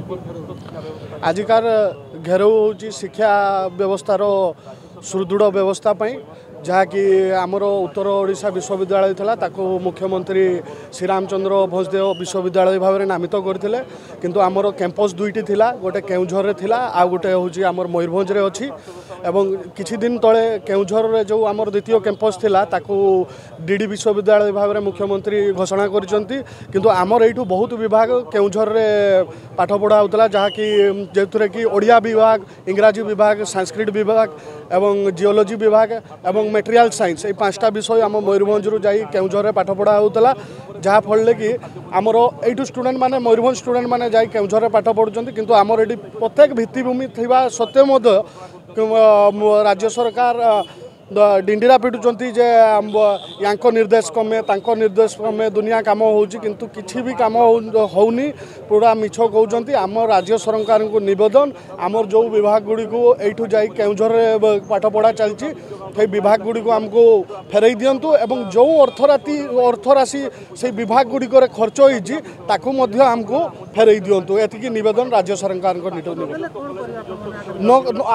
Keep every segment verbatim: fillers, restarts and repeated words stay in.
ଆଜିକାର ଘେରାଉ ହେଉଛି ଶିକ୍ଷା ବ୍ୟବସ୍ଥାର ସୁଦୃଢ଼ ବ୍ୟବସ୍ଥା ପାଇଁ, ଯାହାକି ଆମର ଉତ୍ତର ଓଡ଼ିଶା ବିଶ୍ୱବିଦ୍ୟାଳୟ ଥିଲା, ତାକୁ ମୁଖ୍ୟମନ୍ତ୍ରୀ ଶ୍ରୀରାମଚନ୍ଦ୍ର ଭଞ୍ଜଦେଓ ବିଶ୍ୱବିଦ୍ୟାଳୟ ଭାବରେ ନାମିତ କରିଥିଲେ। କିନ୍ତୁ ଆମର କ୍ୟାମ୍ପସ୍ ଦୁଇଟି ଥିଲା, ଗୋଟେ କେଉଁଝରରେ ଥିଲା ଆଉ ଗୋଟେ ହେଉଛି ଆମର ମୟୂରଭଞ୍ଜରେ ଅଛି। ଏବଂ କିଛି ଦିନ ତଳେ କେଉଁଝରରେ ଯେଉଁ ଆମର ଦ୍ୱିତୀୟ କ୍ୟାମ୍ପସ୍ ଥିଲା, ତାକୁ ଡି ଡି ବିଶ୍ୱବିଦ୍ୟାଳୟ ଭାବରେ ମୁଖ୍ୟମନ୍ତ୍ରୀ ଘୋଷଣା କରିଛନ୍ତି। କିନ୍ତୁ ଆମର ଏଇଠୁ ବହୁତ ବିଭାଗ କେଉଁଝରରେ ପାଠ ପଢ଼ା ହେଉଥିଲା, ଯାହାକି ଯେଉଁଥିରେ କି ଓଡ଼ିଆ ବିଭାଗ, ଇଂରାଜୀ ବିଭାଗ, ସାଂସ୍କ୍ରିଟ ବିଭାଗ ଏବଂ ଜିଓଲୋଜି ବିଭାଗ ଏବଂ ମେଟେରିଆଲ ସାଇନ୍ସ, ଏଇ ପାଞ୍ଚଟା ବିଷୟ ଆମ ମୟୂରଭଞ୍ଜରୁ ଯାଇ କେଉଁଝରରେ ପାଠ ପଢ଼ା ହେଉଥିଲା। ଯାହାଫଳରେ କି ଆମର ଏଇଠୁ ଷ୍ଟୁଡେଣ୍ଟ ମାନେ, ମୟୂରଭଞ୍ଜ ଷ୍ଟୁଡେଣ୍ଟ ମାନେ ଯାଇ କେଉଁଝରରେ ପାଠ ପଢ଼ୁଛନ୍ତି। କିନ୍ତୁ ଆମର ଏଠି ପ୍ରତ୍ୟେକ ଭିତ୍ତିଭୂମି ଥିବା ସତ୍ତ୍ୱେ ମଧ୍ୟ ରାଜ୍ୟ ସରକାର ଡିଣ୍ଡିରା ପିଟୁଛନ୍ତି ଯେ ୟାଙ୍କ ନିର୍ଦ୍ଦେଶ କ୍ରମେ, ତାଙ୍କ ନିର୍ଦ୍ଦେଶ କ୍ରମେ ଦୁନିଆ କାମ ହେଉଛି, କିନ୍ତୁ କିଛି ବି କାମ ହେଉନି, ପୁରା ମିଛ କହୁଛନ୍ତି। ଆମ ରାଜ୍ୟ ସରକାରଙ୍କୁ ନିବେଦନ, ଆମର ଯେଉଁ ବିଭାଗ ଗୁଡ଼ିକୁ ଏଇଠୁ ଯାଇ କେଉଁଝରରେ ପାଠ ପଢ଼ା ଚାଲିଛି, ସେଇ ବିଭାଗ ଗୁଡ଼ିକୁ ଆମକୁ ଫେରାଇ ଦିଅନ୍ତୁ ଏବଂ ଯେଉଁ ଅର୍ଥରାତି ଅର୍ଥରାଶି ସେଇ ବିଭାଗ ଗୁଡ଼ିକରେ ଖର୍ଚ୍ଚ ହୋଇଛି, ତାକୁ ମଧ୍ୟ ଆମକୁ ଫେରାଇ ଦିଅନ୍ତୁ। ଏତିକି ନିବେଦନ ରାଜ୍ୟ ସରକାରଙ୍କ ନିକଟରେ।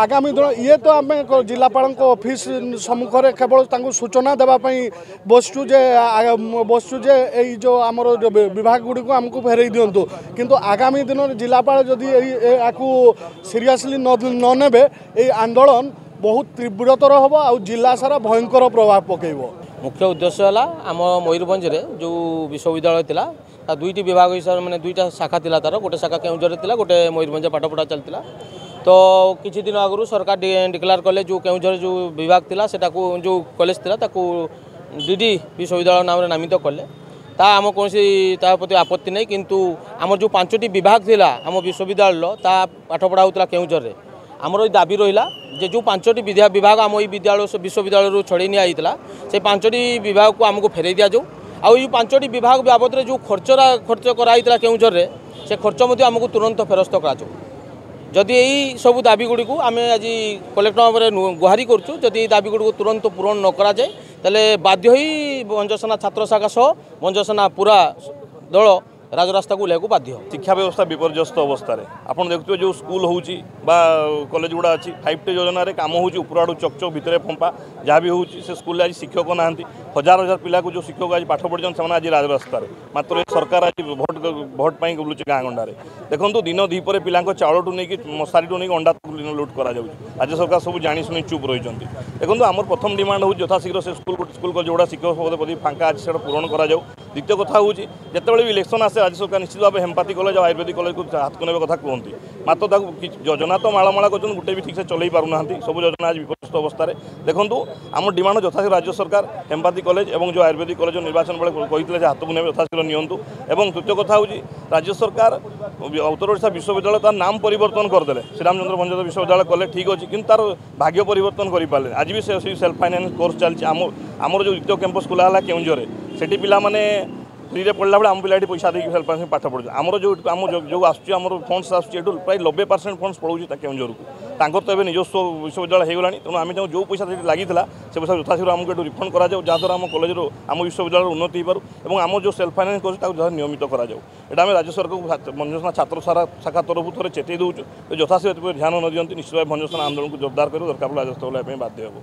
ଆଗାମୀ ଦିନ ଇଏ ତ ଆମେ ଜିଲ୍ଲାପାଳଙ୍କ ଅଫିସ ସମ୍ମୁଖରେ କେବଳ ତାଙ୍କୁ ସୂଚନା ଦେବା ପାଇଁ ବସିଛୁ ଯେ ବସିଛୁ ଯେ ଏଇ ଯେଉଁ ଆମର ବିଭାଗ ଗୁଡ଼ିକୁ ଆମକୁ ଫେରାଇ ଦିଅନ୍ତୁ। କିନ୍ତୁ ଆଗାମୀ ଦିନରେ ଜିଲ୍ଲାପାଳ ଯଦି ଏଇ ଏହାକୁ ସିରିୟସଲି ନ ନେବେ, ଏଇ ଆନ୍ଦୋଳନ ବହୁତ ତୀବ୍ରତର ହେବ ଆଉ ଜିଲ୍ଲା ସାରା ଭୟଙ୍କର ପ୍ରଭାବ ପକାଇବ। ମୁଖ୍ୟ ଉଦ୍ଦେଶ୍ୟ ହେଲା, ଆମ ମୟୂରଭଞ୍ଜରେ ଯେଉଁ ବିଶ୍ୱବିଦ୍ୟାଳୟ ଥିଲା, ତା ଦୁଇଟି ବିଭାଗ ହିସାବରେ, ମାନେ ଦୁଇଟା ଶାଖା ଥିଲା ତାର। ଗୋଟେ ଶାଖା କେଉଁଝରରେ ଥିଲା, ଗୋଟେ ମୟୂରଭଞ୍ଜ ପାଠପଢ଼ା ଚାଲିଥିଲା। ତ କିଛି ଦିନ ଆଗରୁ ସରକାର ଡିକ୍ଲେୟାର କଲେ, ଯେଉଁ କେଉଁଝର ଯେଉଁ ବିଭାଗ ଥିଲା, ସେଟାକୁ, ଯେଉଁ କଲେଜ ଥିଲା, ତାକୁ ଡି ଡି ବିଶ୍ୱବିଦ୍ୟାଳୟ ନାମରେ ନାମିତ କଲେ। ତା ଆମ କୌଣସି ତା ପ୍ରତି ଆପତ୍ତି ନାହିଁ। କିନ୍ତୁ ଆମର ଯେଉଁ ପାଞ୍ଚଟି ବିଭାଗ ଥିଲା ଆମ ବିଶ୍ୱବିଦ୍ୟାଳୟର, ତା ପାଠପଢ଼ା ହେଉଥିଲା କେଉଁଝରରେ। ଆମର ଏଇ ଦାବି ରହିଲା ଯେ ଯେଉଁ ପାଞ୍ଚଟି ବିଭାଗ ଆମ ଏଇ ବିଦ୍ୟାଳୟ ବିଶ୍ୱବିଦ୍ୟାଳୟରୁ ଛଡ଼େଇ ନିଆଯାଇଥିଲା, ସେ ପାଞ୍ଚଟି ବିଭାଗକୁ ଆମକୁ ଫେରାଇ ଦିଆଯାଉ। ଆଉ ଏଇ ପାଞ୍ଚଟି ବିଭାଗ ବାବଦରେ ଯେଉଁ ଖର୍ଚ୍ଚ ଖର୍ଚ୍ଚ କରାଯାଇଥିଲା କେଉଁଝରରେ, ସେ ଖର୍ଚ୍ଚ ମଧ୍ୟ ଆମକୁ ତୁରନ୍ତ ଫେରସ୍ତ କରାଯାଉ। ଯଦି ଏଇ ସବୁ ଦାବି ଗୁଡ଼ିକୁ ଆମେ ଆଜି କଲେକ୍ଟର ଭାବରେ ଗୁହାରି କରୁଛୁ, ଯଦି ଏଇ ଦାବି ଗୁଡ଼ିକୁ ତୁରନ୍ତ ପୂରଣ ନ କରାଯାଏ, ତାହେଲେ ବାଧ୍ୟ ହୋଇ ଭଞ୍ଜସେନା ଛାତ୍ର ଶାଖା ସହ ଭଞ୍ଜସେନା ପୁରା ଦଳ ରାଜରାସ୍ତାକୁ ଓହ୍ଲାଇବାକୁ ବାଧ୍ୟ। ଶିକ୍ଷା ବ୍ୟବସ୍ଥା ବିପର୍ଯ୍ୟସ୍ତ ଅବସ୍ଥାରେ। ଆପଣ ଦେଖୁଥିବେ, ଯେଉଁ ସ୍କୁଲ ହେଉଛି ବା କଲେଜ ଗୁଡ଼ା ଅଛି, ଫାଇଭ୍ ଟି ଯୋଜନାରେ କାମ ହେଉଛି, ଉପର ଆଡ଼ୁ ଚକଚକ, ଭିତରେ ଫମ୍ପା। ଯାହା ବି ହେଉଛି, ସେ ସ୍କୁଲରେ ଆଜି ଶିକ୍ଷକ ନାହାନ୍ତି। ହଜାର ହଜାର ପିଲାକୁ ଯେଉଁ ଶିକ୍ଷକ ଆଜି ପାଠ ପଢ଼ିଛନ୍ତି, ସେମାନେ ଆଜି ରାଜରାସ୍ତାରେ। ମାତ୍ର ଏ ସରକାର ଆଜି ଭୋଟ ଭୋଟ ପାଇଁ ବୁଲୁଛି ଗାଁ ଗଣ୍ଡାରେ। ଦେଖନ୍ତୁ, ଦିନ ଦ୍ୱିପହରେ ପିଲାଙ୍କ ଚାଉଳଠୁ ନେଇକି ମଶାରୀଠୁ ନେଇକି ଅଣ୍ଡା ଲୁଟ୍ କରାଯାଉଛି। ରାଜ୍ୟ ସରକାର ସବୁ ଜାଣିଶୁଣି ଚୁପ୍ ରହିଛନ୍ତି। ଦେଖନ୍ତୁ, ଆମର ପ୍ରଥମ ଡିମାଣ୍ଡ ହେଉଛି ଯଥାଶୀଘ୍ର ସେ ସ୍କୁଲ ସ୍କୁଲ କଲେଜ ଗୁଡ଼ା ଶିକ୍ଷକ ପଦ ପଦବୀ ଫାଙ୍କା ଅଛି, ସେଟା ପୂରଣ କରାଯାଉ। ଦ୍ୱିତୀୟ କଥା ହେଉଛି, ଯେତେବେଳେ ବି ଇଲେକ୍ସନ୍ ଆସେ, ରାଜ୍ୟ ସରକାର ନିଶ୍ଚିତ ଭାବେ ହେମପାତି କଲେଜ ଆଉ ଆୟୁର୍ବେଦିକ କଲେଜକୁ ହାତକୁ ନେବା କଥା କୁହନ୍ତି। ମାତ୍ର ତାକୁ ଯୋଜନା ତ ମାଳମାଳ କରୁଛନ୍ତି, ଗୋଟେ ବି ଠିକ୍ସେ ଚଲେଇ ପାରୁନାହାନ୍ତି। ସବୁ ଯୋଜନା ଆଜି ବିପର୍ଯ୍ୟସ୍ତ ଅବସ୍ଥାରେ। ଦେଖନ୍ତୁ, ଆମ ଡିମାଣ୍ଡ, ଯଥାଶୀଘ୍ର ରାଜ୍ୟ ସରକାର ହେମପାତି କଲେଜ ଏବଂ ଯେଉଁ ଆୟୁର୍ବେଦିକ କଲେଜ ନିର୍ବାଚନ ବେଳେ କହିଥିଲେ ଯେ ହାତକୁ ନେବେ, ଯଥାଶୀଘ୍ର ନିଅନ୍ତୁ। ଏବଂ ତୃତୀୟ କଥା ହେଉଛି, ରାଜ୍ୟ ସରକାର ଉତ୍ତର ଓଡ଼ିଶା ବିଶ୍ୱବିଦ୍ୟାଳୟ ତାର ନାମ ପରିବର୍ତ୍ତନ କରିଦେଲେ, ଶ୍ରୀରାମଚନ୍ଦ୍ର ଭଞ୍ଜଦେବ ବିଶ୍ୱବିଦ୍ୟାଳୟ କଲେ, ଠିକ୍ ଅଛି, କିନ୍ତୁ ତାର ଭାଗ୍ୟ ପରିବର୍ତ୍ତନ କରିପାରିଲେ। ଆଜି ବି ସେ ସେଲ୍ଫ ଫାଇନାନ୍ସ କୋର୍ସ ଚାଲିଛି। ଆମ ଆମର ଯେଉଁ ଦ୍ୱିତୀୟ କ୍ୟାମ୍ପସ୍ ଖୋଲା ହେଲା କେଉଁଝରରେ, ସେଠି ପିଲାମାନେ ଫ୍ରିରେ ପଢ଼ିଲା ବେଳେ ଆମ ପିଲା ଏଠି ପଇସା ଦେଇକି ସେଲ୍ଫ ଫାଇନାନ୍ସ ପାଠ ପଢ଼ୁଛୁ। ଆମର ଯେଉଁ ଆମ ଯେଉଁ ଆସୁଛି, ଆମର ଫଣ୍ଡସ୍ ଆସୁଛି, ଏଠୁ ପ୍ରାୟ ନବେ ପରସେଣ୍ଟ ଫଣ୍ଡସ୍ ପଳାଉଛି ତା କେଉଁଝରକୁ। ତାଙ୍କର ତ ଏବେ ନିଜସ୍ୱ ବିଶ୍ୱବିଦ୍ୟାଳୟ ହେଇଗଲାଣି। ତେଣୁ ଆମେ ଚାହୁଁ, ଯେଉଁ ପଇସା ସେଠି ଲାଗିଥିଲା, ସେ ପଇସା ଯଥାଶୀଘ୍ର ଆମକୁ ଏଠୁ ରିଫଣ୍ଡ କରାଯାଉ, ଯାହାଦ୍ୱାରା ଆମ କଲେଜର, ଆମ ବିଶ୍ୱବିଦ୍ୟାଳୟର ଉନ୍ନତି ହେଇପାରୁ ଏବଂ ଆମ ଯେଉଁ ସେଲ୍ଫ ଫାଇନାନ୍ସ କରୁଛୁ, ତାକୁ ଯଥା ନିୟମିତ କରାଯାଉ। ଏଇଟା ଆମେ ରାଜ୍ୟ ସରକାରକୁ ଭଞ୍ଜସେନା ଛାତ୍ର ସାରା ଶାଖା ତରଫରୁ ଥରେ ଚେତେଇ ଦେଉଛୁ। ଯଥାଶୀଘ୍ର ଏଥିପ୍ରତି ଧ୍ୟାନ ନ ଦିଅନ୍ତି, ନିଶ୍ଚିତ ଭାବେ ଭଞ୍ଜସେନା ଆନ୍ଦୋଳନକୁ ଜୋରଦାର କରିବ, ଦରକାର ପଡ଼ିଲେ ରାଜରାସ୍ତା ଓହ୍ଲାଇବା ପାଇଁ ବାଧ୍ୟ ହେବ।